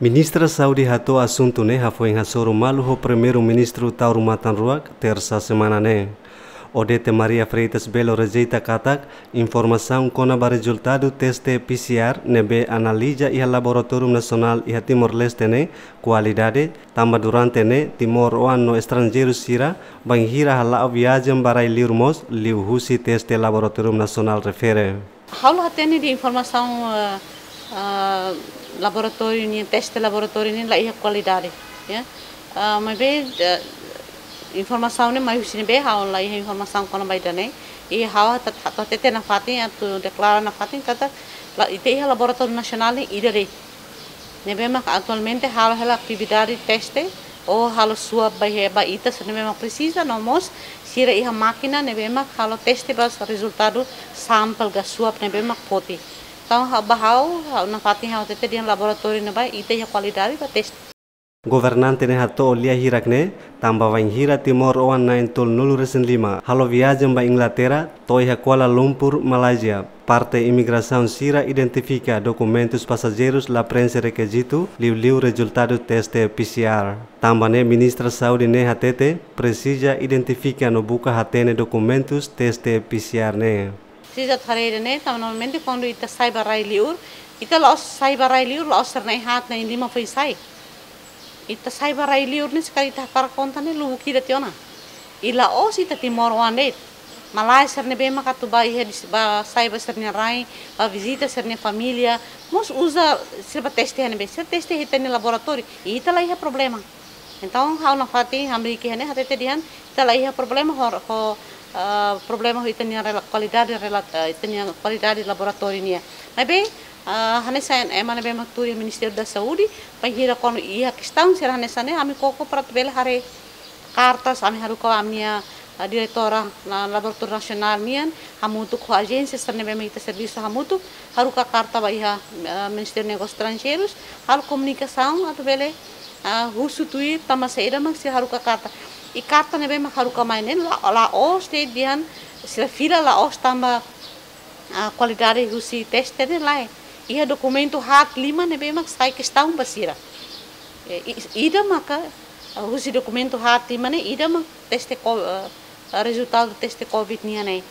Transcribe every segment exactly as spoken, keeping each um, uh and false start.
Ministra Saúde hato'o asuntu ne'e hafoin hasoru malu ho Primeiru-Ministru Taur Matan Ruak, Tersa semana ne'e. Odete Maria Freitas Belo rejeita katak informasaun kona-ba rezultadu teste P C R ne'ebé analiza iha Laboratóriu Nasionál iha Timor-Leste ne'e kualidade, tanba durante ne'e timoroan no estranjeiru sira bainhira hala'o viajen ba rai-liur mós liuhusi teste Laboratóriu Nasionál refere. Ha'u la hatene dehan informasaun, eh, eh, laboratóriu nian, teste laboratóriu nian la iha kualidade, ya. Eh, maibé, eh, informasaun ne'e mai husi ne'ebé, ha'u la iha informasaun kona-ba ida-ne'e. I ha'u atu, atu hatete nafatin, atu deklara nafatin katak la, ita iha Laboratóriu Nasionál ne'e ida de'it. Ne'ebé mak atualmente halo hela atividade teste, ou halo swab ba iha, ba ita sira ne'ebé mak presiza, no mós sira iha mákina ne'ebé mak halo teste ba rezultadu sampel ka swab ne'ebé mak foti. Entaun, ha'u, ba ha'u, ha'u nafatin ha'u hatete dehan laboratóriu ne'ebá ita iha kualidade ba teste. Governante ne'e hato'o lia hirak ne'e, tanba bainhira timoroan na'in-tolunulu-resin-lima halo viajen ba Inglaterra, to'o iha Kuala Lumpur, Malázia, parte imigrasaun sira identifika dokumentus pasajeirus la prenxe rekizitu, liuliu rezultadu teste P C R. Tanba ne'e Ministra Saúde ne'e hatete, presiza identifika no buka hatene dokumentus teste P C R ne'e. Presiza atu haree ida-ne'e, tanba normalmente kuandu ita sai ba rai-liur, ita la'ós sai ba rai-liur, la'ós sira na'in-haat, na'in-lima foin sai. Ita sai ba rai-liur ne'e, se karik ita hakarak konta ne'e, lubuk ida tiha ona. I la'ós ita timoroan de'it. Malae sira ne'ebé mak atu ba iha dis-, ba sai ba sira-nia rai, ba vizita sira-nia família, mós uza sira ba teste iha ne'ebé, sira teste iha ita-nia laboratóriu, i ita la iha problema. Entaun, ha'u nafatin hamriik iha ne'e hatete dehan, ita la iha problema ho, ho, ah, problema ho ita-nia rela-, kualidade rela-, ah, ita-nia kualidade laboratóriu nian. Maibé, ah, hanesan ema ne'ebé mak tuur iha Ministériu da Saúde, bainhira kuandu iha kestaun sira hanesan ne'e, ami koko para atu bele haree kartas, ami haruka ami-nia, ah, diretora na Laboratóriu Nasionál nian, hamutuk ho ajénsia sira ne'ebé mak ita servisu hamutuk, haruka karta ba iha, ah, Ministériu Negósius Estranjeirus, halo komunikasaun atu bele, ah, husu tuir tanba saida mak sira haruka karta. I karta ne'ebé mak haruka mai ne'e la, la'ós dehan sira fila la'ós tanba, ah, kualidade husi teste ne'e lae. Iha dokumentu haat lima ne'ebé mak sai kestaun ba sira. Eh, i-, ida maka, ah, husi dokumentu haat lima ne'e, ida mak teste ko-, ah, rezultadu teste covid nian ne'e.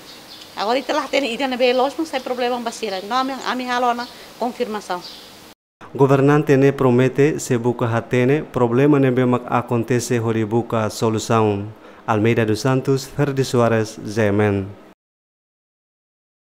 Agora ita la hatene ida ne'ebé loos mak sai problema ba sira. Entaun ami, ami halo ona konfirmasaun. Governante ne'e promete sei buka hatene problema ne'ebé mak akontese hodi buka solusaun. Almeida dos Santos, Ferdi Soares, G M N.